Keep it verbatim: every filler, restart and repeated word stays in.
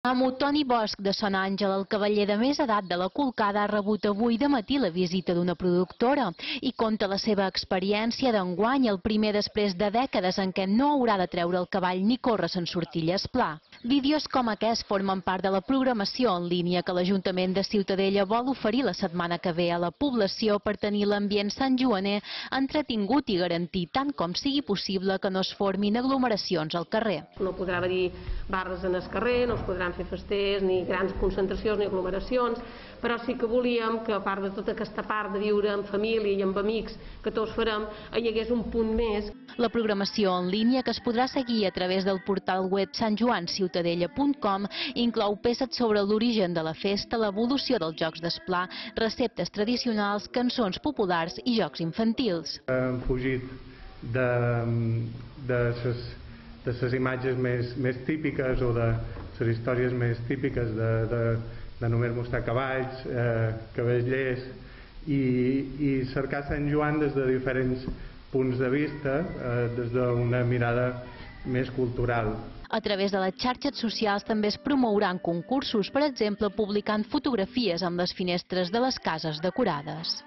Amo Toni Bosch de Sant Àngel, el cavaller de més edat de la Colcada, ha rebut avui de matí la visita d'una productora i conta la seva experiència d'enguany, el primer després de dècades en què no haurà de treure el cavall ni córrer sense sortilles pla. Vídeos com aquest formen part de la programació en línia que l'Ajuntament de Ciutadella vol oferir la setmana que ve a la població per tenir l'ambient santjoaner entretingut i garantir tant com sigui possible que no es formin aglomeracions al carrer. No podrà haver-hi barres en el carrer, no es podran fer festers, ni grans concentracions ni aglomeracions, però sí que volíem que a part de tota aquesta part de viure en família i amb amics que tots farem, hi hagués un punt més. La programació en línia, que es podrà seguir a través del portal web sant joan ciutadella punt com, inclou peces sobre l'origen de la festa, l'evolució dels jocs d'esplà, receptes tradicionals, cançons populars i jocs infantils. Hem fugit de, de ses de les imatges més, més típiques o de les històries més típiques de, de, de només mostrar cavalls, eh, cavallers i, i cercar Sant Joan des de diferents punts de vista, eh, des d'una mirada més cultural. A través de les xarxes socials també es promouran concursos, per exemple, publicant fotografies amb les finestres de les cases decorades.